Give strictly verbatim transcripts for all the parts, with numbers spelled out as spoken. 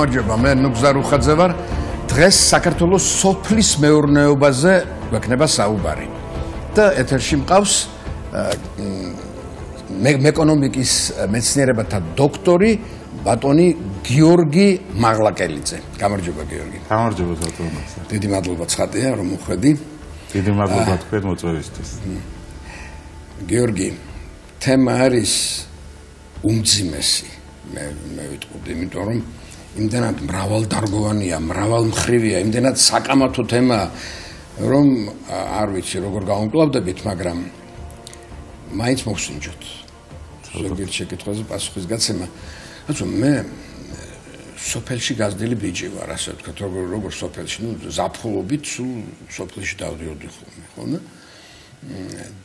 გამარჯობა, მე ნუგზარ უხაძე ვარ. დღეს საქართველოს სოფლის მეურნეობაზე გვექნება საუბარი. და ეთერში მყავს ეკონომიკის მეცნიერებათა დოქტორი ბატონი გიორგი მაღლაკელიძე. გამარჯობა გიორგი. გამარჯობა ბატონო. დიდი მადლობა ცხადია რომ უხვედი. დიდი მადლობა თქვენ მოწვევისთვის. გიორგი, თემა არის უმძიმესი. მე მე ვიტყოდი, იმიტომ რომ იმდენად მრავალდარგოვანია, მრავალმხრივია, იმდენად საკამათო თემაა, რომ არ ვიცი როგორ გავუმკლავდებით, მაგრამ მაინც მოვსინჯოთ. ზოგიერთ შეკითხვაზე პასუხის გაცემა. რადგან მე სოფელში გაზრდილი ბიჭი ვარ, ასე ვთქვათ, როგორ როგორ სოფელში, ნუ ზაფხულობით სულ სოფელში დავდიოდი ხოლმე, ხოლმე.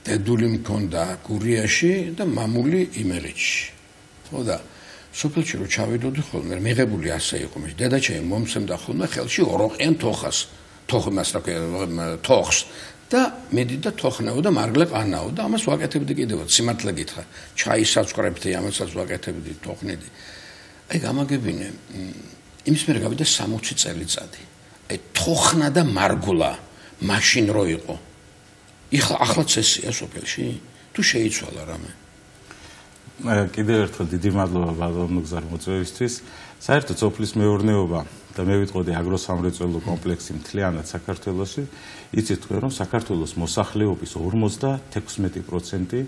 დედული მქონდა გურიაში და მამული იმერეთში. ხო და სოფელში რო ჩავიდოდი ხოლმე, მიღებული ასე იყო, მე დედაჩემი მომცემდა ხოლმე ხელში ოროყიან თოხას, თოხმას რა ქვია, თოხს და მედი და თოხნაო და მარგლე ყანაო და ამას ვაკეთებდი კიდევ, სიმართლე გითხრა, ჩაისაც ვყრებდი, ამასაც ვაკეთებდი, თოხნედი. აი გამაგებინე, იმის მერე გავიდა სამოცი წელიწადი. აი თოხნა და მარგულა მაშინ რო იყო. იხლა ახლა წესია სოფელში? თუ შეიცვალა რამე? კიდევ ერთხელ დიდი მადლობა ბატონო გზარ მოწვევისთვის. საერთოდ სოფლის მეურნეობა და მე ვიტყოდი აგროსამრეწველო კომპლექსი მთლიანად საქართველოში, იცით თქვენ რომ საქართველოს მოსახლეობის ორმოცდათექვსმეტი პროცენტი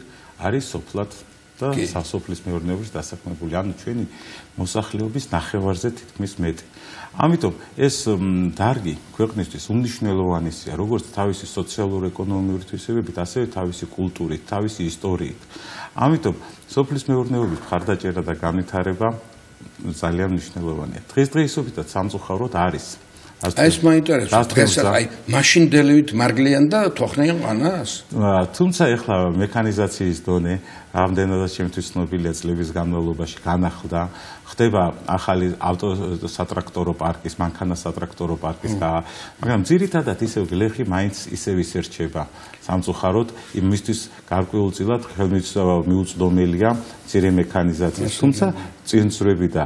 არის სოფლად და სასოფლის მეურნეობაში დასაქმებული, ანუ ჩვენი მოსახლეობის ნახევარზე თითქმის მეტი. ამიტომ ეს დარგი ქვეყნისთვის უმნიშვნელოვანესია, როგორც თავისი სოციალურ-ეკონომიური თვისებებით, ასევე თავისი კულტურით, თავისი ისტორიით. ამიტომ სოფლის მეურნეობის მხარდაჭერა და განვითარება ძალიან მნიშვნელოვანია. დღესდღეობით სამწუხაროდ არის. აი ეს მაინტერესებს. დღეს აი მაშინდელივით მარგლიან და თოხნიან ყანას? თუმცა ეხლა მექანიზაციის დონე რამდენადაც ჩემთვის ცნობილია წლების განმავლობაში განახლდა. ხდება ახალი ავტოსატრაქტორო პარკის, მანქანა სატრაქტორო პარკის გაა, მაგრამ ძირითადად ისევ გლეხი მაინც ისევ ისერჩება. სამწუხაროდ იმისთვის გარკვეულწილად ხელმისაწვდომელია მცირე მექანიზაცია. თუმცა წინსვრები და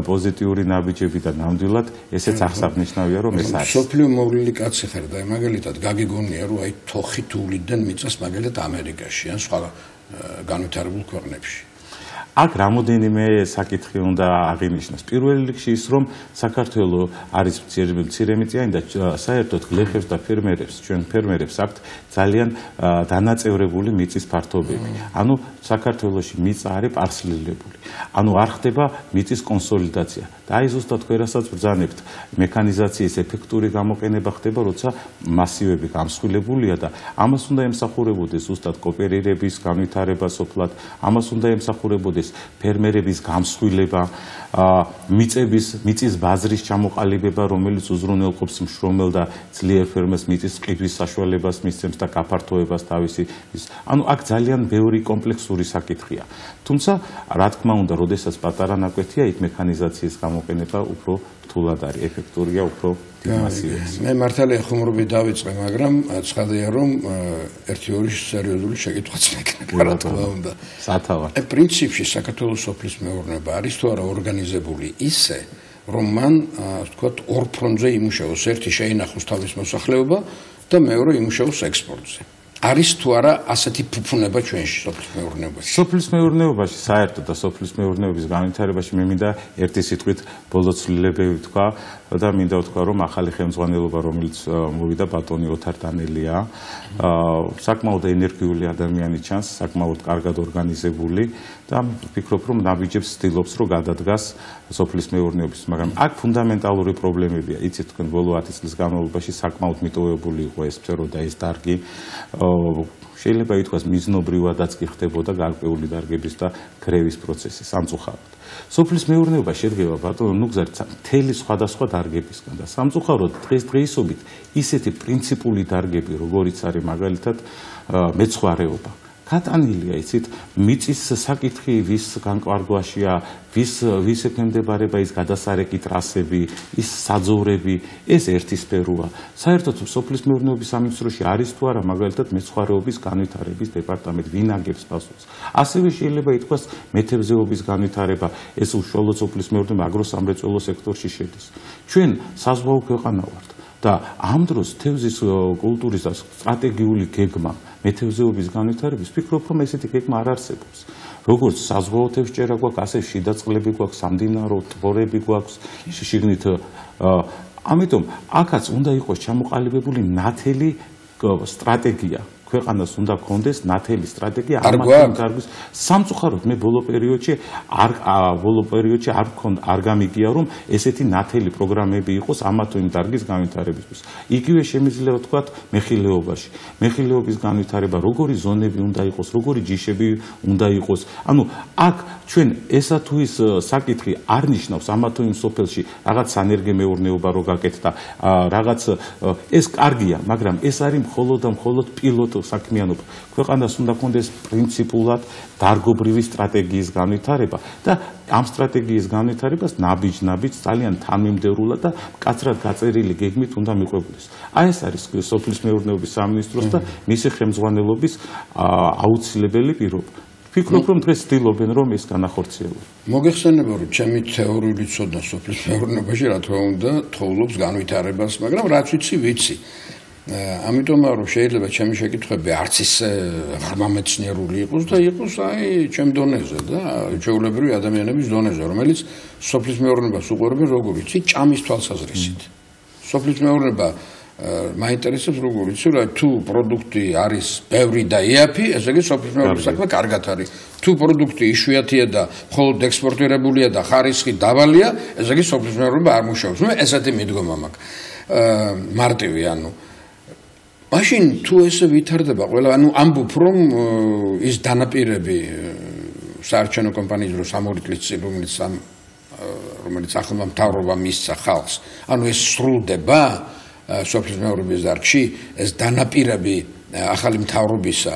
პოზიტიური ნაბიჯები და ნამდვილად ესეც აღსანიშნავია რომ ეს არის. სოფლიო მოვლილი კაცი ხარ და მაგალითად გაგიგონია რომ აი თოხით უვლიდან მიწას მაგალითად ამერიკაში ან სხვა განვითარებულ ქვეყნებში. აქ რამოდენიმე საკითხი უნდა აღინიშნოს. პირველ რიგში ის რომ საქართველოს არის მცირემიწიანი და საერთოდ გლეხებს და ფერმერებს, ჩვენ ფერმერებს აქვთ ძალიან დანაწევრებული მიწის ფართობები. ანუ საქართველოში მიწა არის პარცელირებული. ანუ არ ხდება მიწის კონსოლიდაცია. და აი ზუსტად თქვენ რასაც ბრძანებთ, მექანიზაციის ეფექტური გამოყენება ხდება, როცა მასივები გამსხვილებულია და ამას უნდა ემსახურებოდეს ზუსტად კოოპერირების განვითარება სოფლად, ამას უნდა ემსახურებოდეს ფერმერების გამსხვილება, მიწების, მიწის ბაზრის ჩამოყალიბება, რომელიც უზრუნველყოფს მშრომელ და ძლიერ ფერმერს მიწის ყიდვის საშუალებას მისცემს და გაფართოებას თავისი. ანუ აქ ძალიან ბევრი კომპლექსური საკითხია. თუმცა, რა თქმა უნდა, როდესაც პატარა ნაკვეთია, იქ მექანიზაციის გამოყენება უფრო რთულად არის, ეფექტურია უფრო მასივებში. მე მართალია ხუმრობით დავიწყე, მაგრამ ცხადია რომ ერთი ორი სერიოზული შეკითხვაც მექნება, რა თქმა უნდა. სათავე. აი პრინციპში საქართველოს სოფლის მეურნეობა არის თუ არა ორგანიზებული ისე, რომ მან ვთქვათ ორ ფრონტზე იმუშაოს, ერთი შეინახოს თავის მოსახლეობა და მეორე იმუშაოს ექსპორტზე. არის თუ არა ასეთი ფუფუნება ჩვენში სოფლის მეურნეობაში? სოფლის მეურნეობაში, საერთოდ და სოფლის მეურნეობის განვითარებაში მე მინდა ერთი სიტყვით ბოლო ცვლილებები ვთქვა და მინდა ვთქვა, რომ ახალი ხელმძღვანელობა, რომელიც მოვიდა ბატონი ოთარ დანელია, საკმაოდ ენერგიული ადამიანი ჩანს, საკმაოდ კარგად ორგანიზებული და ვფიქრობ, რომ ნაბიჯებს ცდილობს, რომ გადადგას სოფლის მეურნეობის, მაგრამ აქ ფუნდამენტალური პრობლემებია. იცით თქვენ ბოლო ათი წლის განმავლობაში საკმაოდ მიტოვებული იყო ეს სფერო და ეს დარგი. შეიძლება ითქვას მიზნობრივადაც კი ხდებოდა გარკვეული დარგების და გრევის პროცესი სამწუხაროდ. სოფლის მეურნეობა შედგება ბატონო ნუგზარით მთელი სხვადასხვა დარგებისგან და სამწუხაროდ დღესდღეობით ისეთი პრინციპული დარგები, როგორიც არის მაგალითად მეცხვარეობა, გატანილია იცით მიწის საკითხი ვის განკვარგვაშია ვის ვის ექვემდებარება ის გადასარეკი ტრასები ის საძოვრები ეს ერთი სფეროა საერთოდ სოფლის მეურნეობის სამინისტროში არის თუ არა მაგალითად მეცხვარეობის განვითარების დეპარტამენტი ვინ აგებს პასუხს ასევე შეიძლება ითქვას მეთევზეობის განვითარება ეს უშუალოდ სოფლის მეურნეობა აგროსამრეწველო სექტორში შედის ჩვენ საზღვაო ქვეყანა ვართ და ამ დროს თევზის კულტურის და სტრატეგიული გეგმა მეთევზეობის განვითარების ვფიქრობ რომ ესეთი გეგმა არ არსებობს როგორც საზღვაო თევზჭერა გვაქვს ასე შიდა წყლები გვაქვს სამდინარო ტბორები გვაქვს შიგნით ამიტომ აქაც უნდა იყოს ჩამოყალიბებული ნათელი სტრატეგია ქვეყანას უნდა გქონდეს ნათელი სტრატეგია ამას გარგვის სამწუხაროდ მე ბოლო პერიოდში არ ბოლო პერიოდში არ გქონდა არ გამიგია რომ ესეთი ნათელი პროგრამები იყოს ამა თუ იმ დარგის განვითარებისთვის იგივე შემიძლია ვთქვათ მეხილეობაში მეხილეობის განვითარება როგორი ზონები უნდა იყოს როგორი ჯიშები უნდა იყოს ანუ აქ ჩვენ ესა თუ ის საკითხი არ ნიშნავს ამა თუ იმ სოფელში რაღაც სანერგე მეურნეობა რო გაკეთდა რაღაც ეს კარგია მაგრამ ეს არის მხოლოდ და მხოლოდ პილოტ საქმიანობა ქვეყანას უნდა გქონდეს პრინციპულად დარგობრივი სტრატეგიის განვითარება და ამ სტრატეგიის განვითარებას ნაბიჯ-ნაბიჯ ძალიან თანმიმდევრულად და მკაცრად გაწერილი გეგმით უნდა მიყვებოდეს. აი ეს არის სოფლის მეურნეობის სამინისტროს და მისი ხელმძღვანელობის აუცილებელი პირობა. ვფიქრობ რომ დღეს ცდილობენ რომ ეს განახორციელონ. მოგეხსენება რომ ჩემი თეორიული ცოდნა სოფლის მეურნეობაში რა თქმა უნდა თხოვლობს განვითარებას, მაგრამ რაც ვიცი ვიცი. ამიტომ რომ შეიძლება ჩემი შეკითხვები არც ის ღრმამეცნიერული იყოს და იყოს აი ჩემ დონეზე და ჩვეულებრივი ადამიანების დონეზე, რომელიც სოფლის მეურნეობას უყურებენ როგორ იცი ჭამის თვალსაზრისით. სოფლის მეურნეობა მაინტერესებს როგორ იცი რა თუ პროდუქტი არის ბევრი და იაფი, ესე იგი სოფლის მეურნეობის საქმე კარგად არის. თუ პროდუქტი იშვიათია და მხოლოდ ექსპორტირებულია და ხარისხი დაბალია, ესე იგი სოფლის მეურნეობა არ მუშაობს. მე ესეთი მიდგომა მაქვს. მარტივი ანუ მაშინ თუ ესე ვითარდება ყველა ანუ ამბობ რომ ის დანაპირები საარჩევნო კომპანიის დროს სამი წლის წინ რომელიც რომელიც ახალმა მთავრობამ მისცა ხალხს ანუ ეს სრულდება სოფლის მეურნეობის დარგში ეს დანაპირები ახალი მთავრობისა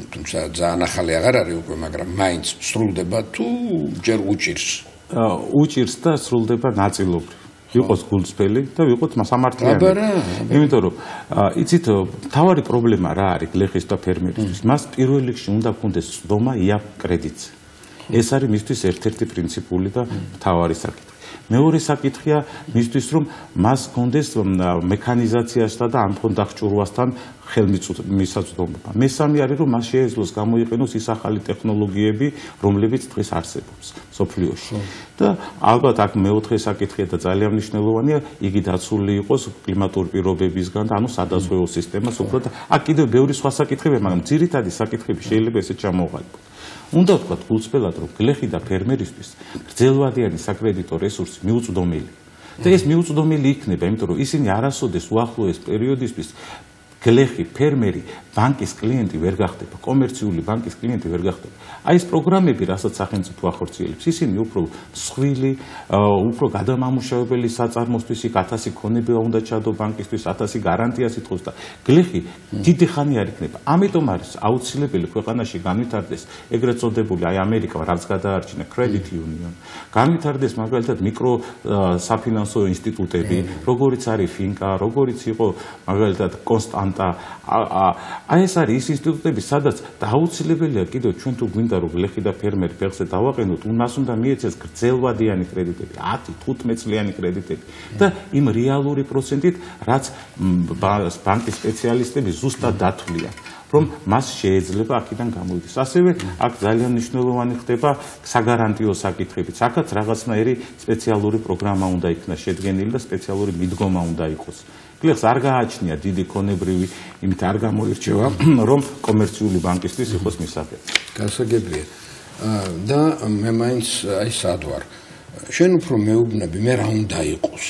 თუმცა ძალიან ახალი აღარ არის უკვე მაგრამ მაინც სრულდება თუ ჯერ უჭირს უჭირს და სრულდება ნაწილობრივ ვიყოს გულწრფელი და ვიყოთ სამართლიანი. იმიტომ რომ იცით თავარი პრობლემა რა არის გლეხის და ფერმერისთვის. მას პირველ რიგში უნდა გქონდეს ცდომა იაფ კრედიტზე. ეს არის მისთვის ერთ-ერთი პრინციპული და თავარი საკითხი. მეორე საკითხია მისთვის რომ მას გქონდეს მექანიზაციასთან და ამ ფონდახჭურვასთან ხელმისაწვდომობა. მესამე არის რომ მას შეეძლოს გამოიყენოს ის ახალი ტექნოლოგიები, რომლებიც დღეს არსებობს სოფლიოში. და ალბათ აქ მეოთხე საკითხია და ძალიან მნიშვნელოვანია, იგი დაცული იყოს კლიმატური პირობებისგან და ანუ სადაზღვევო სისტემას უბრალოდ აქ კიდევ ბევრი სხვა საკითხებია, მაგრამ ძირითადი საკითხები შეიძლება ესე ჩამოყალიბოთ. უნდა ვთქვათ გულწრფელად რომ გლეხი და ფერმერისთვის გრძელვადიანი საკრედიტო რესურსი მიუწვდომელი. და ეს მიუწვდომელი იქნება, იმიტომ რომ ისინი არასოდეს უახლოეს პერიოდისთვის გლეხი, ფერმერი, ბანკის კლიენტი ვერ გახდება, კომერციული ბანკის კლიენტი ვერ გახდება. აი ეს პროგრამები, რასაც სახელმწიფო ახორციელებს, ისინი უფრო მსხვილი, უფრო გადამამუშავებელი საწარმოსთვის იქ ათასი ქონება უნდა ჩადო ბანკისთვის, ათასი გარანტია სიტყვის და გლეხი დიდი ხანი არ იქნება. ამიტომ არის აუცილებელი ქვეყანაში განვითარდეს ეგრეთ წოდებული აი ამერიკა რაც გადაარჩინა credit union. განვითარდეს მაგალითად მიკრო საფინანსო ინსტიტუტები, როგორიც არის ფინკა, როგორიც იყო მაგალითად კონსტანტ აი ეს არის ის ინსტიტუტები, სადაც დაუცილებელია კიდევ ჩვენ თუ გვინდა რომ გლეხი და ფერმერი ფეხზე დავაყენოთ, მას უნდა მიეცეს გრძელვადიანი კრედიტები, ათი თხუთმეტ წლიანი კრედიტები და იმ რეალური პროცენტით, რაც ბანკის სპეციალისტები ზუსტად დათვლიან, რომ მას შეიძლება აქედან გამოვიდეს. ასევე აქ ძალიან მნიშვნელოვანი ხდება საგარანტიო საკითხებიც. აქაც რაღაცნაირი სპეციალური პროგრამა უნდა იქნას შედგენილი და სპეციალური მიდგომა უნდა იყოს. გლეხს არ გააჩნია დიდი ქონებრივი, იმით არ გამოირჩევა, რომ კომერციული ბანკისთვის იყოს მისაღები. გასაგებია. და მე მაინც აი სად ვარ. შენ უფრო მეუბნები, მე რა უნდა იყოს.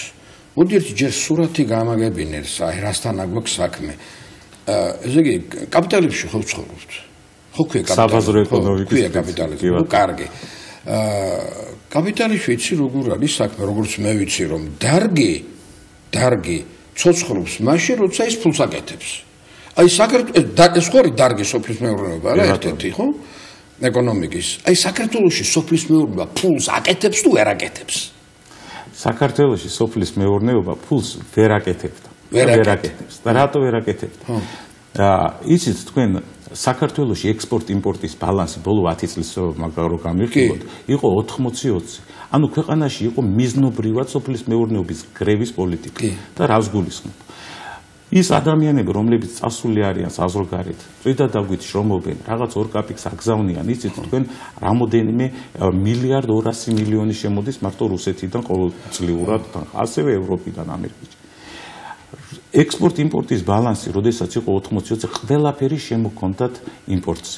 მოდი ერთი ჯერ სურათი გამაგებინე, აი რასთან აგვაქვს საქმე. ესე იგი, კაპიტალებში ხო ვცხოვრობთ? ხო ქვია კაპიტალიზმი. საბაზრო ეკონომიკის. ქვია კაპიტალიზმი. ნუ კარგი. კაპიტალში იცი როგორ არის საქმე, როგორც მე ვიცი რომ დარგი, დარგი ცოცხლობს მაშინ, როცა ის ფულს აკეთებს. აი საქართველოს ხორი დარგი სოფლის მეურნეობა რა ერთ-ერთი ხო? ეკონომიკის. აი საქართველოში სოფლის მეურნეობა ფულს აკეთებს თუ ვერ აკეთებს? საქართველოში სოფლის მეურნეობა ფულს ვერ აკეთებდა. ვერ აკეთებს. და რატო ვერ აკეთებდა? აა იცით თქვენ საქართველოში ექსპორტ-იმპორტის ბალანსი ბოლო ათი წლის მაგარო გამიხილოთ, იყო ოთხმოცი ოცი. ანუ ქვეყანაში იყო მიზნობრივად სოფლის მეურნეობის გრევის პოლიტიკა და რას გულისხმობ? ის ადამიანები, რომლებიც წასული არიან საზღვარგარეთ, წვიდა დაგვით შრომობენ, რაღაც ორ კაპიკს აგზავნიან, იცით თქვენ რამოდენიმე მილიარდ ორასი მილიონი შემოდის მარტო რუსეთიდან ყოველწლიურად, ასევე ევროპიდან, ამერიკიდან. ექსპორტ-იმპორტის ბალანსი, როდესაც იყო ოთხმოცი ოცი, ყველაფერი შემოქონდათ იმპორტზე.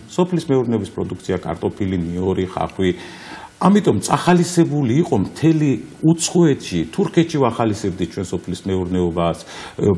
სოფლის მეურნეობის პროდუქცია, კარტოფილი, ნიორი, ხახვი. ამიტომ წახალისებული იყო მთელი უცხოეთში, თურქეთში ვახალისებდით ჩვენ სოფლის მეურნეობას,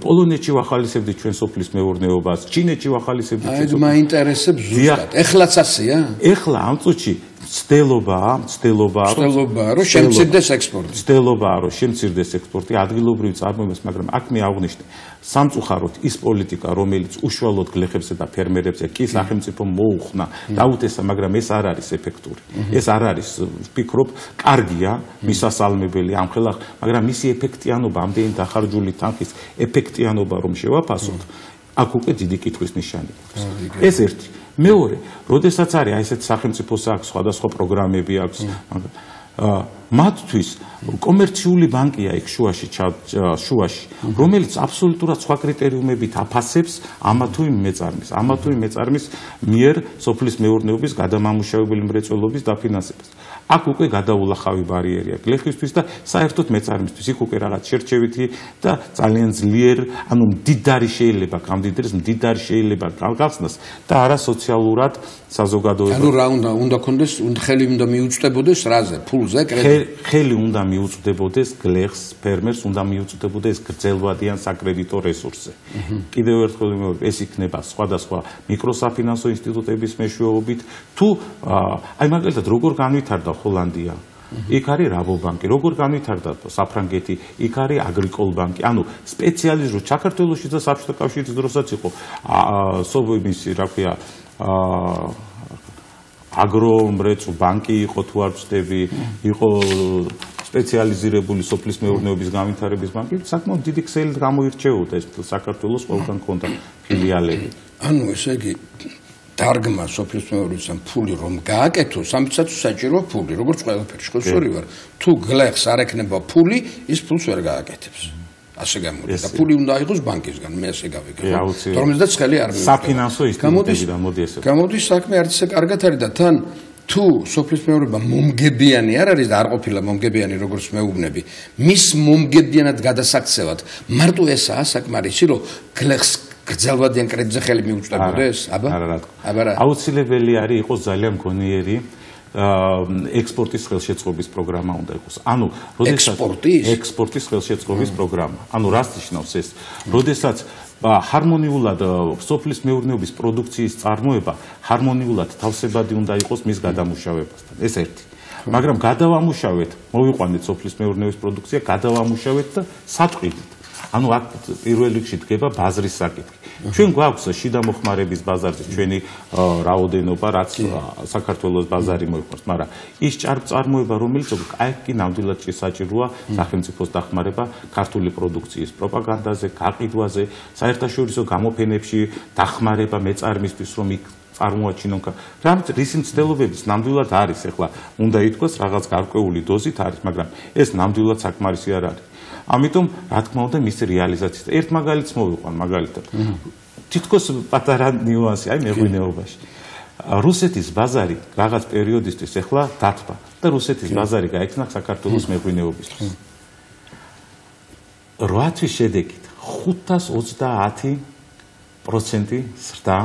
პოლონეთში ვახალისებდით ჩვენ სოფლის მეურნეობას, ჩინეთში ვახალისებდით ჩვენ. აი, მაინტერესებს ზუსტად. ეხლაც ასეა? ეხლა ამ წუთში ცდილობაა, ცდილობაა, ცდილობაა, რომ შემცირდეს ექსპორტი. ცდილობაა, რომ შემცირდეს ექსპორტი ადგილობრივ წარმოებას, მაგრამ აქ მე აღვნიშნე, სამწუხაროდ ის პოლიტიკა, რომელიც უშუალოდ გლეხებზე და ფერმერებზე კი სახელმწიფო მოუხნა, დაუთესა, მაგრამ ეს არ არის ეფექტური. ეს არ არის, ვფიქრობ, კარგია, მისასალმებელი ამხელა, მაგრამ მისი ეფექტიანობა, ამდენი დახარჯული თანხის ეფექტიანობა რომ შევაფასოთ, აქ უკვე დიდი კითხვის ნიშანი აქვს. ეს ერთი. მეორე, როდესაც არის აი ესეთ სახელმწიფოს აქვს სხვადასხვა პროგრამები აქვს, მათთვის კომერციული ბანკია იქ შუაში შუაში, რომელიც აბსოლუტურად სხვა კრიტერიუმებით აფასებს ამა თუ იმ მეწარმის, ამა თუ იმ მეწარმის მიერ სოფლის მეურნეობის გადამამუშავებელი მრეწველობის დაფინანსებას. აქ უკვე გადაულახავი ბარიერია გლეხისთვის და საერთოდ მეწარმისთვის. იქ უკვე რაღაც შერჩევითი და ძალიან ძლიერ, ანუ მდიდარი შეიძლება გამდიდრეს, მდიდარი შეიძლება გახსნას და არა სოციალურად საზოგადოება. ანუ რა უნდა უნდა კონდეს, ხელი უნდა მიუწვდებოდეს რაზე, ფულზე, კრედიტზე. ხელი უნდა მიუწვდებოდეს გლეხს, ფერმერს უნდა მიუწვდებოდეს გრძელვადიან საკრედიტო რესურსზე. კიდევ ერთხელ ვიმეორებ, ეს იქნება სხვადასხვა მიკროსაფინანსო ინსტიტუტების მეშვეობით თუ აი მაგალითად როგორ განვითარდა ჰოლანდია. იქ არის რაბობანკი, როგორ განვითარდა საფრანგეთი, იქ არის აგრიკოლბანკი. ანუ სპეციალიზირებული საქართველოში და საბჭოთა კავშირის დროსაც იყო სოვიმისი, რა ქვია, აგრომრეწ ბანკი იყო თუ არ ვწდები, იყო სპეციალიზირებული სოფლის მეურნეობის განვითარების ბანკი, საკმაოდ დიდი ქსელით გამოირჩეოდა ეს საქართველოს ყველგან ქონდა ფილიალები. ანუ ესე იგი დარგმა სოფლის მეურნეობისგან ფული რომ გააკეთოს, ამიცაც საჭირო ფული, როგორც ყველაფერში, ხო სწორი ვარ. თუ გლეხს არ ექნება ფული, ის ფულს ვერ გააკეთებს. ასე გამოდის და ფული უნდა აიღოს ბანკისგან, მე ასე გავიგე. თორმეტ ცხელი არ მივიდა. საფინანსო ინსტიტუტებიდან მოდის ეს. გამოდის საქმე არც ისე კარგად არის და თან თუ სოფლის მეურნეობა მომგებიანი არ არის და არ ყოფილა მომგებიანი როგორც მეუბნები, მის მომგებიანად გადასაქცევად მარტო ესაა საკმარისი, რომ გლეხს გრძელვადიან კრედიტზე ხელი მიუწვდებოდეს? აბა? აბა რა? აუცილებელი არის იყოს ძალიან გონიერი ექსპორტის ხელშეწყობის პროგრამა უნდა იყოს. ანუ, როდესაც ექსპორტის ხელშეწყობის პროგრამა. ანუ, რას ნიშნავს ეს? როდესაც ჰარმონიულად სოფლის მეურნეობის პროდუქციის წარმოება ჰარმონიულად თავსებადი უნდა იყოს მის გადამუშავებასთან. ეს ერთი. მაგრამ გადავამუშავეთ, მოვიყვანეთ სოფლის მეურნეობის პროდუქცია, გადავამუშავეთ და სატყიდით. ანუ აქ პირველ რიგში დგება ბაზრის საკითხი. ჩვენ გვაქვს შიდა მოხმარების ბაზარზე ჩვენი რაოდენობა, რაც საქართველოს ბაზარი მოიყვანს, მაგრამ ის ჭარბწარმოება, რომელიც აი კი ნამდვილად შესაჭიროა სახელმწიფოს დახმარება ქართული პროდუქციის პროპაგანდაზე, გაყიდვაზე, საერთაშორისო გამოფენებში დახმარება მეწარმისთვის, რომ იქ წარმოაჩინონ. რამც რისი მცდელობების ნამდვილად არის, ეხლა უნდა ითქვას რაღაც გარკვეული დოზით არის, მაგრამ ეს ნამდვილად საკმარისი არ არის. ამიტომ რა თქმა უნდა მის რეალიზაციას ერთ მაგალითს მოვიყვან მაგალითად. თითქოს პატარა ნიუანსი აი მეღვინეობაში. რუსეთის ბაზარი რაღაც პერიოდისთვის ეხლა დათბა და რუსეთის ბაზარი გაიქნა საქართველოს მეღვინეობისთვის. რვა თვის შედეგით ხუთას ოცდაათი პროცენტი ზრდა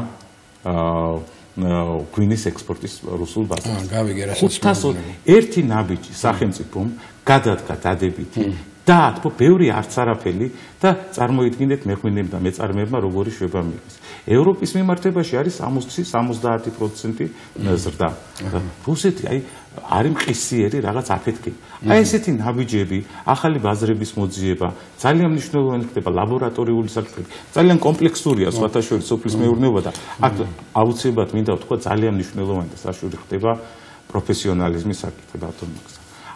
გვინის ექსპორტის რუსულ ბაზარზე. გავიგე რასაც ერთი ნაბიჯი სახელმწიფომ გადადგა დადებითი და თქო ბევრი არც არაფერი და წარმოიდგინეთ მეღვინეებმა და მეწარმეებმა როგორი შვება მიიღეს. ევროპის მიმართებაში არის სამოცი სამოცდაათი პროცენტი ზრდა. რუსეთი აი არის მყისიერი რაღაც აფეთქება. აი ესეთი ნაბიჯები, ახალი ბაზრების მოძიება, ძალიან მნიშვნელოვანი ხდება ლაბორატორიული საკითხები. ძალიან კომპლექსურია სხვათა შორის სოფლის მეურნეობა და აქ აუცილებლად მინდა ვთქვა ძალიან მნიშვნელოვანი და საშუალო ხდება პროფესიონალიზმის საკითხი ბატონო.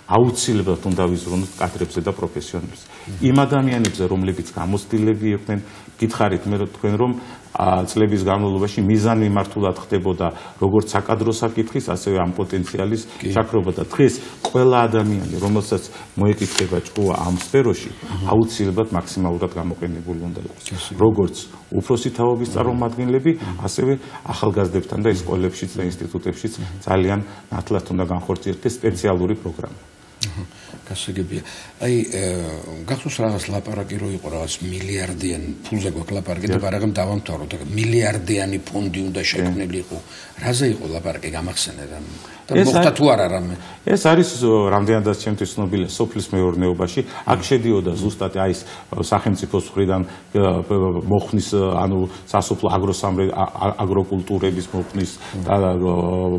აუცილებლად უნდა ვიზრუნოთ კადრებზე და პროფესიონალებს. იმ ადამიანებზე, რომლებიც გამოცდილები იყვნენ, გითხარით მე თქვენ რომ წლების განმავლობაში მიზანმიმართულად ხდებოდა როგორც საკადრო საკითხის, ასევე ამ პოტენციალის შაქრობა და დღეს ყველა ადამიანი, რომელსაც მოეკითხება ჭკუა ამ სფეროში, აუცილებლად მაქსიმალურად გამოყენებული უნდა იყოს. როგორც უფროსი თაობის წარმომადგენლები, ასევე ახალგაზრდებთან და სკოლებშიც და ინსტიტუტებშიც ძალიან ნათლად უნდა განხორციელდეს სპეციალური პროგრამა. გასაგებია. აი, გახსოვს რაღაც ლაპარაკი რო იყო რაღაც მილიარდიანი ფულზე გვაქვს ლაპარაკი და ბარაღამ დავამთავროთ. მილიარდიანი ფონდი უნდა შექმნილიყო. რაზე იყო ლაპარაკი გამახსენე რა? და მოხდა თუ არა რამე? ეს არის რამდენადაც ჩემთვის ცნობილია სოფლის მეურნეობაში. აქ შედიოდა ზუსტად აი ეს სახელმწიფოს მხრიდან მოხნის, ანუ სასოფლო აგროკულტურების მოხნის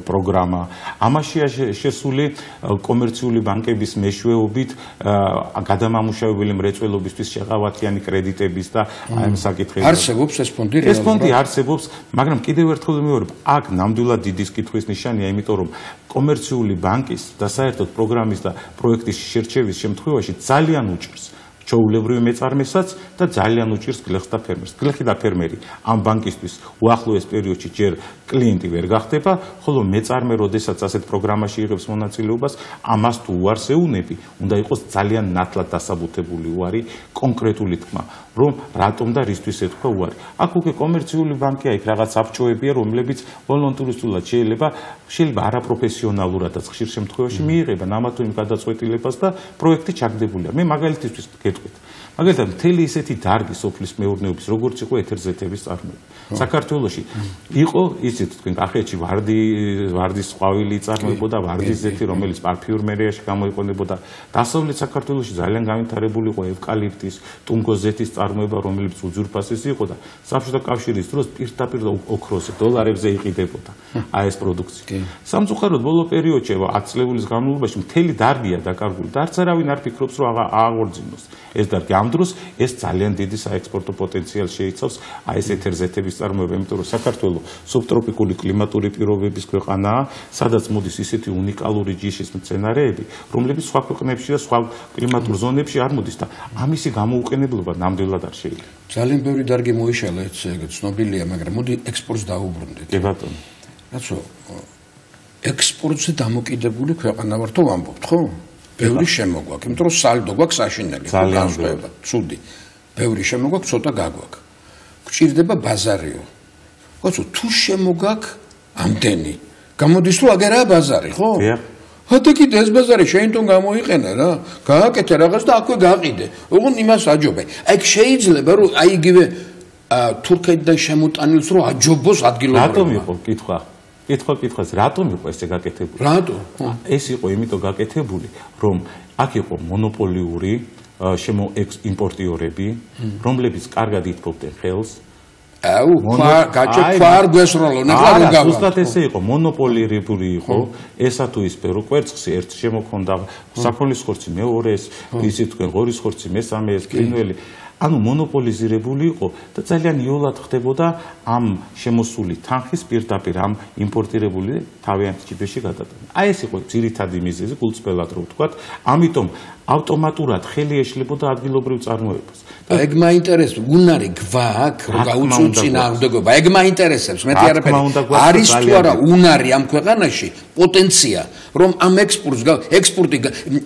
პროგრამა. ამაშია შესული კომერციული ბანკების მეშვეობით გადამამუშავებელი მრეწველობისთვის შეღავათიანი კრედიტების და აი ამ საკითხები. არსებობს ეს ფონდი? ეს ფონდი არსებობს, მაგრამ კიდევ ერთხელ ვიმეორებ, აქ ნამდვილად დიდი კითხვის ნიშანია, იმიტომ რომ კომერციული ბანკის და საერთოდ პროგრამის და პროექტის შერჩევის შემთხვევაში ძალიან უჭირს ჩაულებრივი მეწარმესაც და ძალიან უჭირს გლეხს და ფერმერს. გლეხი და ფერმერი ამ ბანკისთვის უახლოეს პერიოდში ჯერ კლიენტი ვერ გახდება, ხოლო მეწარმე, როდესაც ასეთ პროგრამაში იღებს მონაწილეობას, ამას თუ უარს ეუნები, უნდა იყოს ძალიან ნათლად დასაბუთებული უარი, კონკრეტული თქმა, რომ რატომ და რისთვის ეთქვა უარი. აქ უკვე კომერციული ბანკია, იქ რაღაც საბჭოებია, რომლებიც ვოლონტარულად შეიძლება შეიძლება არაპროფესიონალურადაც ხშირ შემთხვევაში მიიღებენ ამა თუ იმ გადაწყვეტილებას და პროექტი ჩაგდებულია. მე მაგალითისთვის გეტყვით. მაგალითად, მთელი ისეთი დარგი სოფლის მეურნეობის, როგორც იყო ეთერზეთების წარმოება. საქართველოში იყო ისეთ თქვენ კახეთში ვარდი ვარდის ყვავილი წარმოებოდა, ვარდის ზეთი, რომელიც პარფიუმერიაში გამოიყენებოდა. დასავლეთ საქართველოში ძალიან განვითარებული იყო ევკალიპტის, ტუნგოზეთის წარმოება, რომელიც უძურფასესი იყო და საბჭოთა კავშირის დროს პირდაპირ ოქროზე, დოლარებზე იყიდებოდა აი ეს პროდუქცია. სამწუხაროდ ბოლო პერიოდში ათ წლების განმავლობაში მთელი დარგია დაკარგული და არც არავინ არ ფიქრობს, რომ აღაღორძინოს ეს დარგი. ამ დროს ეს ძალიან დიდი საექსპორტო პოტენციალს შეიცავს აი ეს ეთერზეთების წარმოება, იმიტომ რომ საქართველო სუბტროპიკული კლიმატური პირობების ქვეყანაა, სადაც მოდის ისეთი უნიკალური ჯიშის მცენარეები, რომლებიც სხვა ქვეყნებში და სხვა კლიმატურ ზონებში არ მოდის და ამისი გამოუყენებლობა ნამდვილად არ შეიძლება. ძალიან ბევრი დარგი მოიშალა, ეგ ცნობილია, მაგრამ მოდი ექსპორტს დაუბრუნდეთ. კი ბატონო. რაცო ექსპორტზე დამოკიდებული ქვეყანა ვარ, თუ ვამბობთ, ხო? ბევრი შემოგვაქვს, იმიტომ რომ სალდო გვაქვს საშინელი, განსხვავება, ცუდი. ბევრი შემოგვაქვს, ცოტა გაგვაქვს. გვჭირდება ბაზარიო. ხოცო, თუ შემოგაქვს ამდენი, გამოდის რომ აგერაა ბაზარი, ხო? დიახ. ხოთი კიდე ეს ბაზარი შეინტონ გამოიყენე რა. გააკეთე რაღაც და აქვე გაყიდე. ოღონდ იმას აჯობე. აი შეიძლება რომ აი იგივე თურქეთიდან შემოტანილს რომ აჯობოს ადგილობრივ. რატომ იყო კითხვა? კითხვა კითხვას, რატომ იყო ესე გაკეთებული? რატო? ეს იყო იმიტომ გაკეთებული, რომ აქ იყო მონოპოლიური შემო იმპორტიორები, რომლებიც კარგად ითქობდნენ ხელს. აუ, გაჭე ფარ გვესროლო, ნახლა რომ გავა. ზუსტად ესე იყო, მონოპოლირებული იყო, ესა თუ ის პერო კვერცხს ერთ შემოქონდა, საფროლის ხორცი მეორეს, ისე თქვენ ღორის ხორცი მესამე, ეს კრინველი. ანუ მონოპოლიზირებული იყო და ძალიან იოლად ხდებოდა ამ შემოსული თანხის პირდაპირ ამ იმპორტირებული თავიანთ ჯიბეში გადატანა. აი ეს იყო ძირითადი მიზეზი, გულწრფელად რო ვთქვათ, ამიტომ ავტომატურად ხელი ეშლებოდა ადგილობრივ წარმოებას. და ეგ მაინტერესებს, უნარი გვაქვს, რომ გაუწუწინააღმდეგობა. ეგ მაინტერესებს, მეტი არაფერი. არის თუ არა უნარი ამ ქვეყანაში პოტენცია, რომ ამ ექსპორტს ექსპორტი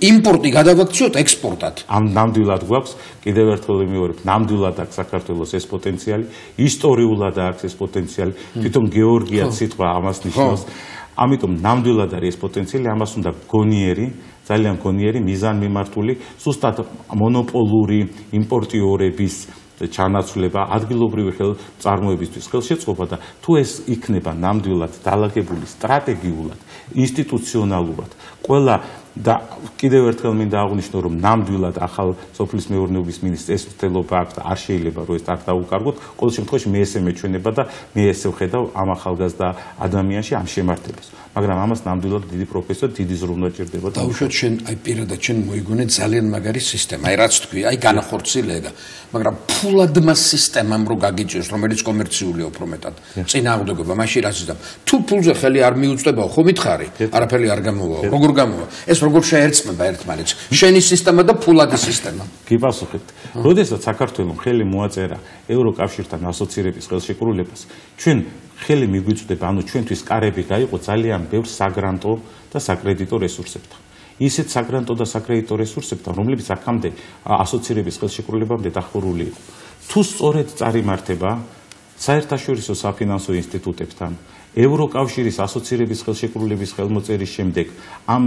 იმპორტი გადავაქციოთ ექსპორტად. ამ ნამდვილად გვაქვს, კიდევ ერთხელ ვიმეორებ, ნამდვილად აქვს საქართველოს ეს პოტენციალი, ისტორიულად აქვს ეს პოტენციალი, თვითონ გეორგიაც სიტყვა ამას ნიშნავს. ამიტომ ნამდვილად არის ეს პოტენციალი, ამას უნდა გონიერი, ძალიან გონიერი, მიზანმიმართული, ზუსტად მონოპოლური იმპორტიორების ჩანაცვლება, ადგილობრივი ხელმწარმოებისთვის ხელშეწყობა და თუ ეს იქნება ნამდვილად დალაგებული სტრატეგიულად, ინსტიტუციონალურად, ყველა და კიდევ ერთხელ მინდა აღვნიშნო, რომ ნამდვილად ახალ სოფლის მეურნეობის მინისტრს ეს მცდელობა აქვს და არ შეიძლება რომ ეს არ დაუკარგოთ. ყოველ შემთხვევაში მე ესე მეჩვენება და მე ესე ვხედავ ამ ახალგაზრდა ადამიანში ამ შემართებას. მაგრამ ამას ნამდვილად დიდი პროფესია, დიდი ზრუნვა ჭირდება. დაუშვათ შენ აი პირადად შენ მოიგონე ძალიან მაგარი სისტემა. აი რაც თქვი, აი განახორციელება, მაგრამ ფულად მას სისტემამ რო გაგიჭიროს, რომელიც კომერციულია უფრო მეტად. წინააღმდეგობა მაშინ რაც იზამ. თუ ფულზე ხელი არ მიუწვდებაო, ხო მითხარი? არაფერი არ გამოვაო. როგორ გამოვა? ეს როგორ შეერწყმება ერთმანეთს? შენი სისტემა და ფულადი სისტემა. გიპასუხეთ. როდესაც საქართველოს ხელი მოაწერა ევროკავშირთან ასოცირების ხელშეკრულებას, ჩვენ ხელი მიგვიწვდება, ანუ ჩვენთვის კარები გაიყო ძალიან ბევრ საგრანტო და საკრედიტო რესურსებთან. ისეთ საგრანტო და საკრედიტო რესურსებთან, რომლებიც აქამდე ასოცირების ხელშეკრულებამდე დახურული იყო. თუ სწორედ წარიმართება საერთაშორისო საფინანსო ინსტიტუტებთან, ევროკავშირის ასოცირების ხელშეკრულების ხელმოწერის შემდეგ ამ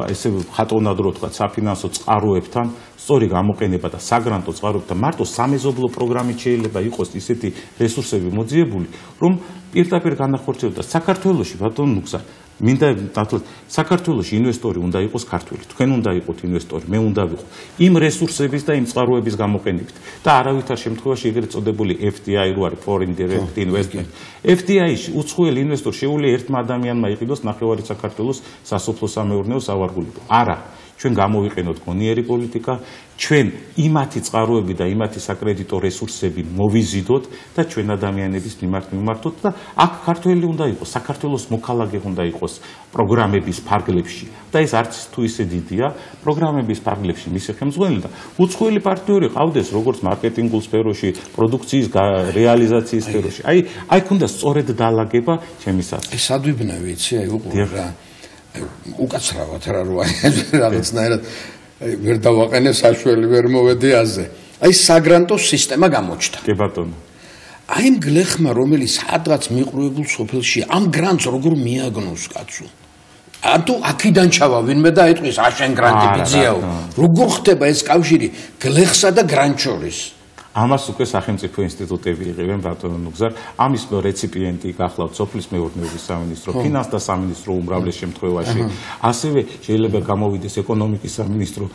ესე ხატოვნად რო თქვა საფინანსო წყაროებთან სწორი გამოყენება და საგრანტო წყაროებთან მარტო სამეზობლო პროგრამით შეიძლება იყოს ისეთი რესურსები მოძიებული, რომ პირდაპირ განახორციელოს საქართველოში ბატონ ნუგზა მინდა დათვალოთ საქართველოში ინვესტორი უნდა იყოს ქართველი, თქვენ უნდა იყოთ ინვესტორი, მე უნდა ვიყო იმ რესურსების და იმ წყაროების გამოყენებით და არავითარ შემთხვევაში ეგრეთ წოდებული F D I რო არის foreign direct investment. F D I-ში უცხოელი ინვესტორი შეუძლია ერთმა ადამიანმა იყიდოს ნახევარი საქართველოს სასოფლო-სამეურნეო სავარგულები. არა, ჩვენ გამოვიყენოთ გონიერი პოლიტიკა, ჩვენ იმათი წყაროები და იმათი საკრედიტო რესურსები მოვიზიდოთ და ჩვენ ადამიანების მიმართ მიმართოთ და აქ ქართველი უნდა იყოს, საქართველოს მოქალაქე უნდა იყოს პროგრამების ფარგლებში და ეს არც თუ ისე დიდია, პროგრამების ფარგლებში მისი ხელმძღვანელი და უცხოელი პარტნიორი ყავდეს როგორც მარკეტინგულ სფეროში, პროდუქციის რეალიზაციის სფეროში. აი, აი ქონდა სწორედ დაალაგება ჩემისას. ეს ადვიბნევი იცი, აი უყურე რა. უკაცრავად რა როა რაღაცნაირად ვერ დავაყენე საშველი ვერ მოვედი აზე. აი საგრანტო სისტემა გამოჩნდა. კი ბატონო. აი იმ გლეხმა რომელიც სადღაც მიყრუებულ სოფელში ამ გრანტს როგორ მიაგნოს კაცო. ანუ აქედან ჩავა ვინმე და ეტყვის აშენ გრანტი ბიძიაო. როგორ ხდება ეს კავშირი გლეხსა და გრანტ შორის? ამას უკვე სახელმწიფო ინსტიტუტები იღებენ ბატონო ნუგზარ. ამის რეციპიენტი გახლავთ სოფლის მეურნეობის სამინისტრო, ფინანსთა სამინისტრო უმრავლეს შემთხვევაში. ასევე შეიძლება გამოვიდეს ეკონომიკის სამინისტრო,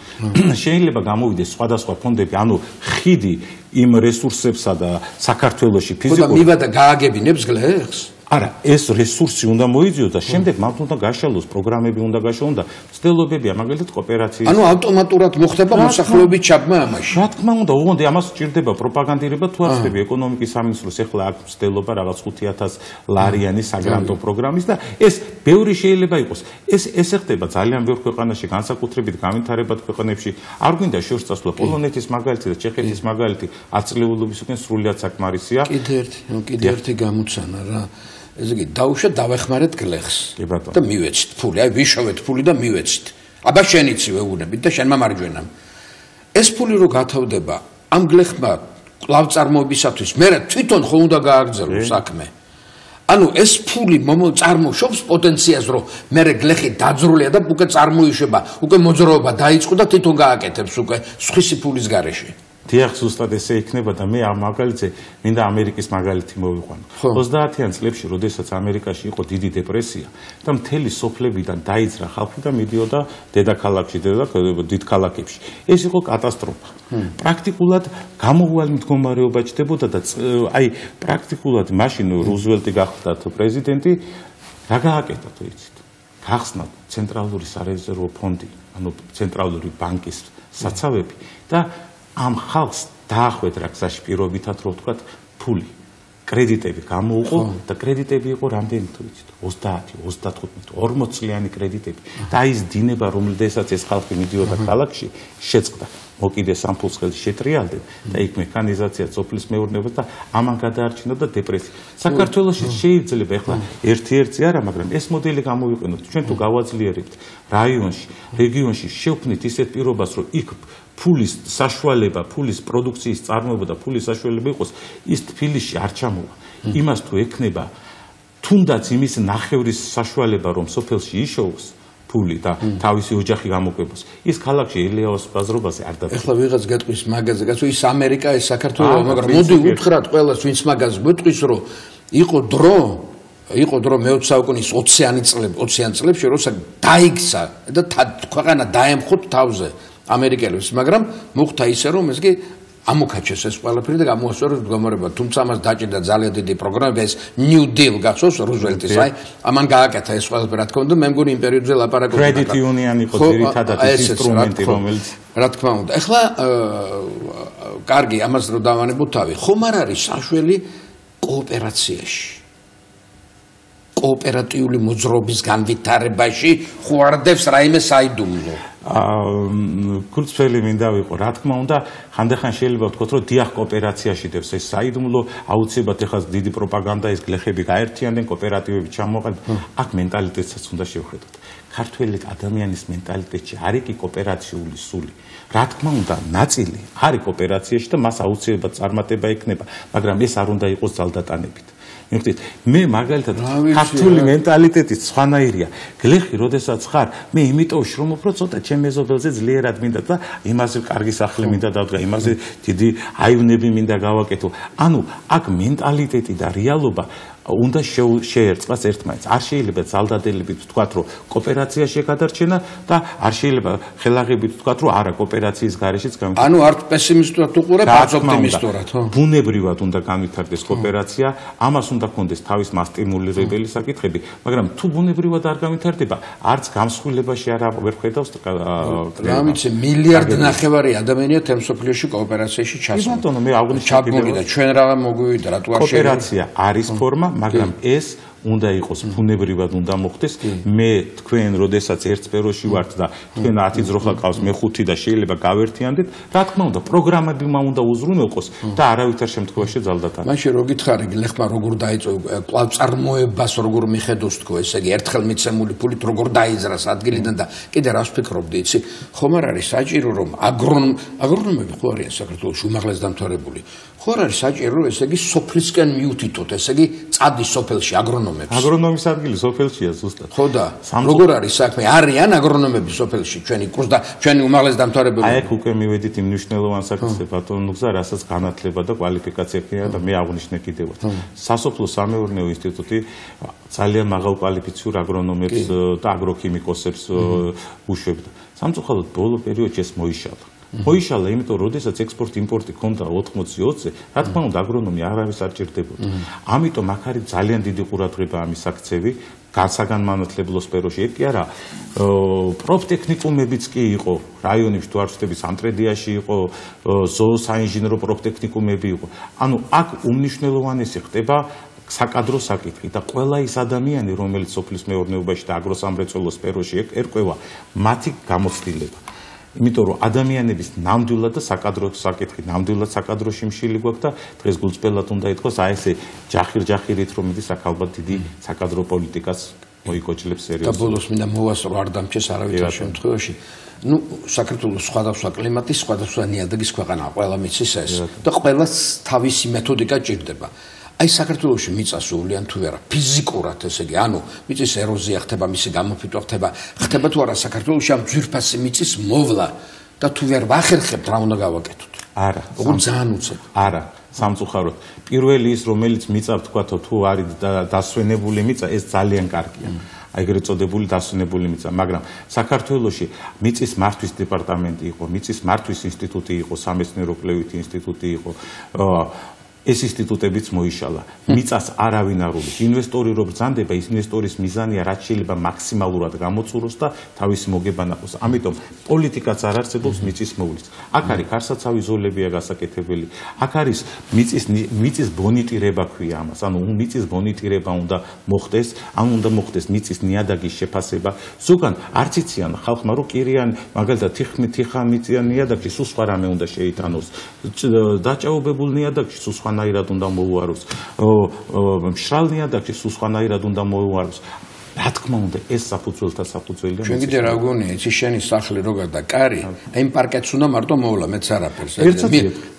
შეიძლება გამოვიდეს სხვადასხვა ფონდები, ანუ ხიდი იმ რესურსებსა და საქართველოში ფიზიკურ. ხოდა მივა და გააგებინებს გლეხს? არა, ეს რესურსი უნდა მოიძიოს და შემდეგ მათ უნდა გაშალოს, პროგრამები უნდა გაშალოს და მცდელობებია, მაგალითად კოოპერაციის. ანუ ავტომატურად მოხდება მოსახლეობის ჩაბმა ამაში. რა თქმა უნდა, ოღონდ ამას სჭირდება პროპაგანდირება თუ არ ხდება ეკონომიკის სამინისტროს ეხლა აქ მცდელობა რაღაც ხუთი ათას ლარიანი საგრანტო პროგრამის და ეს ბევრი შეიძლება იყოს. ეს ესე ხდება ძალიან ბევრ ქვეყანაში, განსაკუთრებით განვითარებად ქვეყნებში. არ გვინდა შორს წასვლა პოლონეთის მაგალითი და ჩეხეთის მაგალითი აწლეულობის უკან სრულიად საკმარისია. კიდე ერთი, კიდე ერთი გამოცანა რა. ესე იგი დაუშვათ დავეხმარეთ გლეხს და მივეცით ფული, აი ვიშოვეთ ფული და მივეცით. აბა შენიცი ვეუბნებით და შენმა მარჯვენამ. ეს ფული რო გათავდება ამ გლეხმა კლავწარმოებისათვის, მე თვითონ ხო უნდა გააგრძელოს საქმე. ანუ ეს ფული წარმოშობს პოტენციალს, რომ მე გლეხი დაძრულია და უკვე წარმოიშება, უკვე მოძრაობა დაიწყო და თვითონ გააკეთებს უკვე სხვისი ფულის გარეშე. დიახ, ზუსტად ესე იქნება და მე ამ მაგალითზე მინდა ამერიკის მაგალითი მოვიყვანო. ოცდაათიან წლებში, როდესაც ამერიკაში იყო დიდი депრესია და მთელი სოფლებიდან დაიძრა ხალხი და მიდიოდა დედაქალაქში, დიდ ქალაქებში. ეს იყო კატასტროფა. პრაქტიკულად გამოუვალ მდგომარეობა ჩდებოდა და აი პრაქტიკულად მაშინ რუზველტი გახდა პრეზიდენტი, რა გააკეთა თუ იცით? გახსნა ცენტრალური სარეზერვო ფონდი, ანუ ცენტრალური ბანკის საცავები და ამ ხალხს დაახვეთ რა გზაში პირობითად რო ვთქვათ ფული კრედიტები გამოუყო და კრედიტები იყო რამდენი თუ იცით ოცდაათი ოცდათხუთმეტი ორმოც წლიანი კრედიტები და ის დინება რომელსაც ეს ხალხი მიდიოდა ქალაქში შეწყდა მოკიდეს ამ ფულს ხელში შეტრიალდნენ და იქ მექანიზაცია სოფლის მეურნეობას და ამან გადაარჩინოდა დეპრესია საქართველოში შეიძლება ახლა ერთ-ერთი არა მაგრამ ეს მოდელი გამოვიყენოთ ჩვენ თუ გავაძლიერებთ რაიონში რეგიონში შევქმნით ისეთ პირობას რომ იქ ფულის საშუალება, ფულის პროდუქციის წარმოება და ფულის საშუალება იყოს, ის თბილისში არ ჩამოვა. იმას თუ ექნება, თუნდაც იმის ნახევრის საშუალება, რომ სოფელში იშოვოს ფული და თავისი ოჯახი გამოკვებოს. ის ქალაქში ელეაოს ბაზრობაზე არ დაწყება. ეხლა ვიღაც გეტყვის მაგაზე, კაცო, ის ამერიკა, ეს საქართველო, მაგრამ მოდი უთხრათ ყველას, ვინც მაგას გვეტყვის, რომ იყო დრო იყო დრო მეოცე საუკუნის ოციანი წლები, ოციან წლებში, როცა დაიქცა და ქვეყანა დაემხოთ თავზე ამერიკელებს, მაგრამ მოხდა ისე, რომ ეს კი ამოქაჩეს ეს ყველაფერი და გამოასწორეს მდგომარეობა. თუმცა ამას დაჭირდა ძალიან დიდი პროგრამა, ეს New Deal გახსოვს რუზველტის, აი, ამან გააკეთა ეს ყველაფერი, რა თქმა უნდა, მე მგონი იმპერიოდზე ლაპარაკობდა. Credit Union იყო ძირითადად ის ინსტრუმენტი, რომელიც რა თქმა უნდა. ეხლა კარგი, ამას რო დავანებოთ თავი, ხომ არ არის საშველი კოოპერაციაში? კოოპერატიული მოძრაობის განვითარებაში ხوارდებს რაიმე საიდუმლო. კურცფელი მინდა ვიყო, რა თქმა უნდა, ხანდახან შეიძლება ვთქვათ, რომ დიახ კოოპერაციაში დევს ეს საიდუმლო, აუცილებლად ეხლა დიდი პროპაგანდა, ეს გლეხები გაერთიანდნენ, კოოპერატივები ჩამოყალიბდა, აქ მენტალიტეტსაც უნდა შევხედოთ. ქართველი ადამიანის მენტალიტეტში არის კი კოოპერაციული სული. რა თქმა უნდა, ნაწილი არის კოოპერაციაში და მას აუცილებლად წარმატება ექნება, მაგრამ ეს არ უნდა იყოს ძალდატანებით. მიხდით, მე მაგალითად ქართული მენტალიტეტით სხვანაირია. გლეხი, როდესაც ხარ, მე იმიტომ შრომობ, რომ ცოტა ჩემ მეზობელზე ძლიერად მინდა და იმაზე კარგი სახლი მინდა დავდგა, იმაზე დიდი აივნები მინდა გავაკეთო. ანუ აქ მენტალიტეტი და რეალობა უნდა შეერწყას ერთმანეთს. არ შეიძლება ძალდადელებით ვთქვათ, რომ კოოპერაციაში გადარჩენა და არ შეიძლება ხელაღებით ვთქვათ, რომ არა კოოპერაციის გარეშეც გამიჩნდა. ანუ არ პესიმისტურად უყურებ, არც ოპტიმისტურად, ხო? ბუნებრივად უნდა განვითარდეს კოოპერაცია, ამას უნდა კონდეს თავის მასტიმულირებელი საკითხები, მაგრამ თუ ბუნებრივად არ განვითარდება, არც გამსხვილებაში არ ვერ ხედავს. რა ვიცი, მილიარდ ნახევარი ადამიანია თემ სოფლიოში კოოპერაციაში ჩასული. ბატონო, მე აღნიშნე და ჩვენ რაღა მოგვივიდა, რატო არ შეიძლება? კოოპერაცია არის ფორმა, მაგრამ ეს უნდა იყოს ბუნებრივად უნდა მოხდეს. მე თქვენ როდესაც ერთ სფეროში ვართ და თქვენ ათი ძროხა ყავს, მე ხუთი და შეიძლება გავერთიანდეთ, რა თქმა უნდა, პროგრამები უნდა უზრუნველყოს და არავითარ შემთხვევაში ძალდატანა. მაშინ რო გითხარი, ლეხმა როგორ დაიწყო კვლავ წარმოებას, როგორ მიხედოს თქო, ესე იგი ერთხელ მიცემული ფულით როგორ დაიზრას ადგილიდან და კიდე რას ფიქრობდი, იცი? ხომ არ არის საჭირო რომ აგრონომ აგრონომები ხო არიან საქართველოში უმაღლეს დამთავრებული? ხო არ არის საჭირო რომ ესე იგი სოფლისკენ მიუთითოთ, ესე იგი წადის სოფელში აგრონომებს. აგრონომის ადგილი სოფელშია ზუსტად. ხო და როგორ არის საქმე? არიან აგრონომები სოფელში ჩვენი კურს და ჩვენი უმაღლეს დამთავრებული. აი აქ უკვე მივედით იმ მნიშვნელოვან საკითხზე ბატონო გზა, რასაც განათლება და კვალიფიკაცია ქნება და მე აღვნიშნე კიდევაც. სასოფლო სამეურნეო ინსტიტუტი ძალიან მაღალ კვალიფიციურ აგრონომებს და აგროქიმიკოსებს უშვებდა. სამწუხაროდ ბოლო პერიოდში ეს მოიშალა. მოიშალა, იმიტომ რომ როდესაც ექსპორტ-იმპორტი ქონდა ოთხმოცი ოცზე, რა თქმა უნდა აგრონომი არავის არ ჭირდებოდა. ამიტომ აქ არის ძალიან დიდი ყურადღება ამის აქცევი, განსაგანმანათლებლო სფეროში. ეგ კი არა, პროფტექნიკუმებიც კი იყო, რაიონებში თუ არ ვცდები, სამტრედიაში იყო, ზოოსაინჟინრო პროფტექნიკუმები იყო. ანუ აქ უმნიშვნელოვანესი ხდება საკადრო საკითხი და ყველა ის ადამიანი, რომელიც სოფლის მეურნეობაში და აგროსამრეწველო სფეროში ერკვევა, მათი გამოცდილება. იმიტომ რომ ადამიანების ნამდვილად და საკადრო საკითხი, ნამდვილად საკადროში მშილი გვაქვს და დღეს გულწრფელად უნდა ითქვას, აი ესე ჯახირ-ჯახირით რომ მიდის აქ ალბათ დიდი საკადრო პოლიტიკას მოიკოჭლებს სერიოზულად. და ბოლოს მინდა მოვასწრო, არ დამჭეს არავითარ შემთხვევაში. ну საქართველოს სხვადასხვა კლიმატის, სხვადასხვა ნიადაგის ქვეყანაა, ყველა მიცის ეს და ყველას თავისი მეთოდიკა ჭირდება. აი საქართველოში მიწა სულიან თუ არა ფიზიკურად, ესე იგი, ანუ მიწის ეროზია ხდება, მისი გამოფიტვა ხდება, ხდება თუ არა საქართველოში ამ ძვირფასი მიწის მოვლა და თუ ვერ ვახერხებთ, რა უნდა გავაკეთოთ? არა, უგულ ძალიან უცებ. არა, სამწუხაროდ. პირველი ის, რომელიც მიწა ვთქვათო, თუ არის დასვენებული მიწა, ეს ძალიან კარგია. აი ეგრეთ წოდებული დასვენებული მიწა, მაგრამ საქართველოში მიწის მართვის დეპარტამენტი იყო, მიწის მართვის ინსტიტუტი იყო, სამეცნიერო-კვლევითი ინსტიტუტი იყო. ეს ინსტიტუტებიც მოიშალა. მიწას არავინ არ უვლის. ინვესტორი რო ბრძანდება, ის ინვესტორის მიზანია რაც შეიძლება მაქსიმალურად გამოწუროს და თავისი მოგება ნახოს. ამიტომ პოლიტიკაც არ არსებობს მიწის მოვლის. აქ არის ქარსაცავი ზოლებია გასაკეთებელი. აქ არის მიწის მიწის ბონიტირება ქვია ამას. ანუ მიწის ბონიტირება უნდა მოხდეს, ან უნდა მოხდეს მიწის ნიადაგის შეფასება. ზოგან არც იციან ხალხმა რომ კირიან, მაგალითად თიხა მიწიან ნიადაგში სულ სხვა რამე უნდა შეიტანოს. დაჭაობებულ ნიადაგში სულ სხვა ნაირად უნდა მოუაროს. მშრალ ნიადაგში სულ სხვანაირად უნდა მოუაროს. რა თქმა უნდა, ეს საფუძველთა საფუძველია. ჩვენ კიდე რა გონია, იცი შენი სახლი როგორ და კარი, აი იმ პარკეტს უნდა მარტო მოვლა, მეც არაფერს.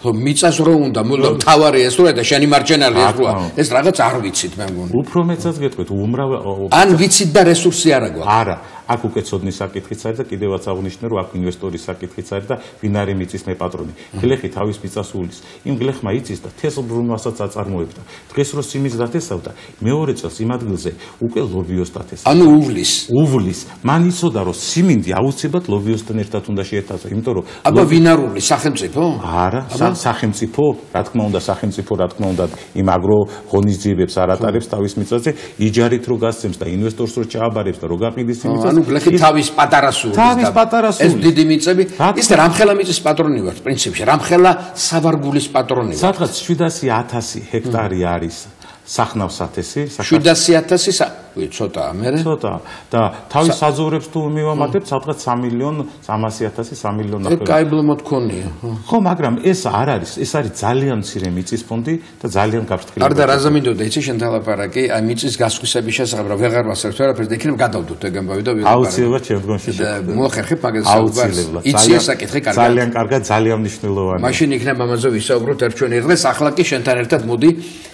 ხო, მიწას რო უნდა, მოდა თავარი ეს როა და შენი მარჯვენალი ეს როა. ეს რაღაც არ ვიცით მე მგონი. უფრო მეცაც გეტყვით, უმრავ ან ვიცით და რესურსი არა გვაქვს. არა. აქ უკვე ცოდნის საკითხიც არის და კიდევაც აღნიშნე რომ აქ ინვესტორის საკითხიც არის და ვინ არის მიწის მე პატრონი. გლეხი თავის მიწას უვლის. იმ გლეხმა იცის და თესლბრუნვასაც აწარმოებდა. დღეს რო სიმის დათესავდა, მეორე წელს იმ ადგილზე უკვე ლობიოს დათესავდა. ანუ უვლის. უვლის. მან იცოდა რომ სიმინდი აუცილებლად ლობიოსთან ერთად უნდა შეეთავსა, იმიტომ რომ აბა ვინ არ უვლის, სახელმწიფო? არა, სახელმწიფო, რა თქმა უნდა, სახელმწიფო რა თქმა უნდა იმ აგრო ღონისძიებებს არ ატარებს თავის მიწაზე, იჯარით რო გასცემს და ინვესტორს რო ჩააბარებს და რო გაყიდის იმ მიწას. ანუ გლეხი თავის პატარა სულის. თავის პატარა სულის. ეს დიდი მიწები, ის რამხელა მიწის პატრონი ვარ, პრინციპში, რამხელა სავარგულის პატრონი ვარ. სადღაც შვიდასი ათასი ჰექტარი არის სახნავსათესი, შვიდასი ათასი ცოტაა, მერე? ცოტაა. და თავის საძოვრებს თუ მივამატებთ, სადღაც სამი მილიონი სამასი ათასი, სამი მილიონი ნახევარი. კაი ბლომოთ ქონია. ხო, მაგრამ ეს არ არის, ეს არის ძალიან მცირე მიწის ფონდი და ძალიან გაფრთხილი. არ და რაზე მინდოდა, იცი შენ თალაპარაკი, აი მიწის გასხვისების შესახებ რა ვეღარ ვასწრებ ვერაფერს და იქნებ გადავდოთ ეგამბავი და ვიღებარ. აუცილებლად შემდგომში შევხვდებით. მოახერხებ მაგას საუბარს. იცი ეს საკითხი კარგად. ძალიან კარგად, ძალიან მნიშვნელოვანია. მაშინ იქნებ ამაზე ვისაუბროთ ერთ ჩვენი დღეს, ახლა კი შენთან ერთად მოდი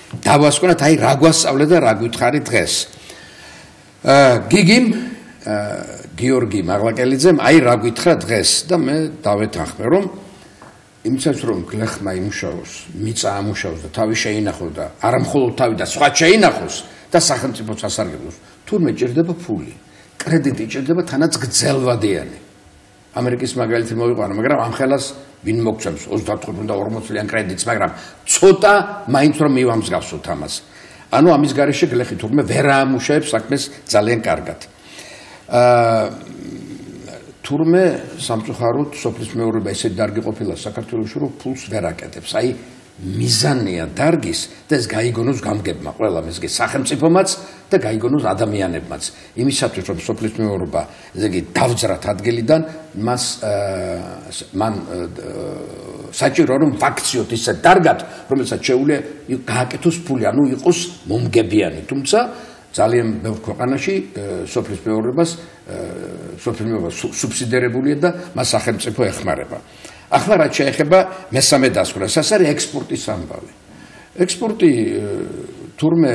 დავასკვნათ, აი რა გვასწავლე და რა გითხარი დღეს. გიგიმ გიორგი მაღლაკელიძემ აი რა გითხრა დღეს და მე დავეთანხმე რომ იმისაც რომ გლეხმა იმუშაოს, მიწა ამუშაოს და თავი შეინახოს და არა მხოლოდ თავი და სხვა შეინახოს და სახელმწიფოს ასარგებლოს, თურმე ჭირდება ფული, კრედიტი ჭირდება თანაც გრძელვადიანი. ამერიკის მაგალითი მოვიყვანო, მაგრამ ამ ხელას ვინ მოგცემს ოცდათხუთმეტ და ორმოცი წლიან კრედიტს, მაგრამ ცოტა მაინც რომ მივამსგავსოთ ამას. ანუ ამის გარეშე გლეხი თურმე ვერ აამუშავებს საქმეს ძალიან კარგად. აა თურმე სამწუხაროდ სოფლის მეურნეობა ესეთი დარგი ყოფილა საქართველოში, რომ ფულს ვერ აკეთებს. აი მიზანია დარგის და ეს გაიგონოს გამგებმა ყველა მესგე სახელმწიფომაც და გაიგონოს ადამიანებმაც. იმისათვის რომ სოფლის მეურნეობა ესე იგი დავძრათ ადგილიდან, მას მან საჭირო რომ ვაქციოთ ისე დარგად, რომელსაც შეუძლია გააკეთოს ფული, ანუ იყოს მომგებიანი. თუმცა ძალიან ბევრ ქვეყანაში სოფლის მეურნეობას სოფლის მეურნეობა სუბსიდირებულია და მას სახელმწიფო ეხმარება. ახლა რაც შეეხება მესამე დასკვნას, ეს არის ექსპორტის ამბავი. ექსპორტი თურმე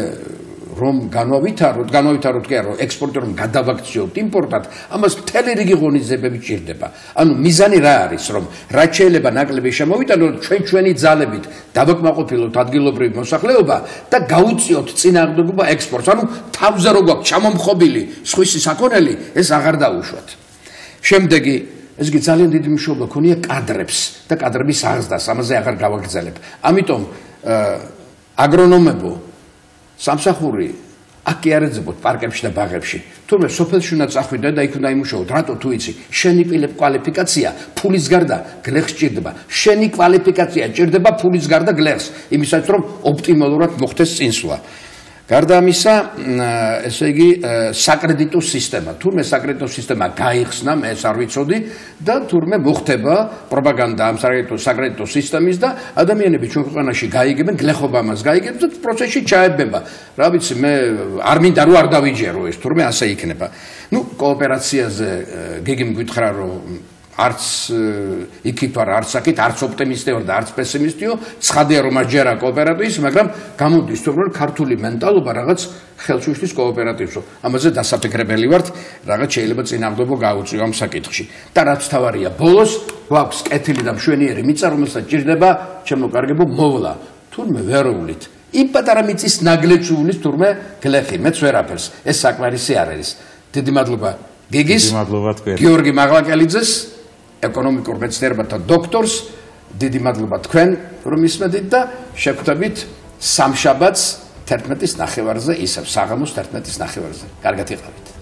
რომ განავითაროთ, განავითაროთ კი არა, ექსპორტი რომ გადავაქციოთ იმპორტად, ამას მთელი რიგი ღონისძიებები ჭირდება. ანუ მიზანი რა არის, რომ რაც შეიძლება ნაკლები შემოვიტანოთ ჩვენ ჩვენი ძალებით, დავაკმაყოფილოთ ადგილობრივი მოსახლეობა და გაუწიოთ წინააღმდეგობა ექსპორტს. ანუ თავზე რო გვაქვს ჩამომხობილი სხვისი საქონელი, ეს აღარ დაუშვათ. შემდეგი ეს კი ძალიან დიდი მნიშვნელობა ქონია კადრებს და კადრების აღზრდას, ამაზე აღარ გავაგრძელებ. ამიტომ აგრონომებო სამსახური აქ კი არ ეძებოთ პარკებში და ბაღებში. თუმცა სოფელში უნდა წახვიდე და იქ უნდა იმუშაოთ. რატო თუ იცი, შენი კვალიფიკაცია ფულის გარდა გლეხს ჭირდება. შენი კვალიფიკაცია ჭირდება ფულის გარდა გლეხს, იმისათვის რომ ოპტიმალურად მოხდეს წინსვლა. გარდა ამისა, ესე იგი, საკრედიტო სისტემა. თურმე საკრედიტო სისტემა გაიხსნა, მე ეს არ ვიცოდი და თურმე მოხდება პროპაგანდა ამ საკრედიტო სისტემის და ადამიანები ჩვენ ქვეყანაში გაიგებენ, გლეხობა მას გაიგებს და პროცესში ჩაებება. რა ვიცი, მე არ მინდა რომ არ დავიჯერო ეს, თურმე ასე იქნება. ნუ კოოპერაციაზე გიგიმ გითხრა რომ არც იქით ვარ, არც აქეთ, არც ოპტიმისტი ვარ და არც პესიმისტიო, ცხადია რომ არ ჯერა კოოპერატივის, მაგრამ გამოდის თუ რომ ქართული მენტალობა რაღაც ხელს უშლის კოოპერატივსო. ამაზე დასაფიქრებელი ვართ, რაღაც შეიძლება წინააღმდეგობა გაუწიო ამ საკითხში. და რაც თავარია, ბოლოს გვაქვს კეთილი და მშვენიერი მიწა, რომელსაც ჭირდება ჩემო კარგებო მოვლა. თურმე ვეროვლით. იმ პატარა მიწის ნაგლეჯს უვლის თურმე გლეხი, მეც ვერაფერს. ეს საკმარისი არ არის. დიდი მადლობა გიგის, გიორგი მაღლაკელიძეს, ეკონომიკურ მეცნიერებათა დოქტორს, დიდი მადლობა თქვენ რომ ისმენთ და შევხვდებით სამშაბათს თერთმეტის ნახევარზე, ისევ საღამოს თერთმეტის ნახევარზე. კარგად იყავით.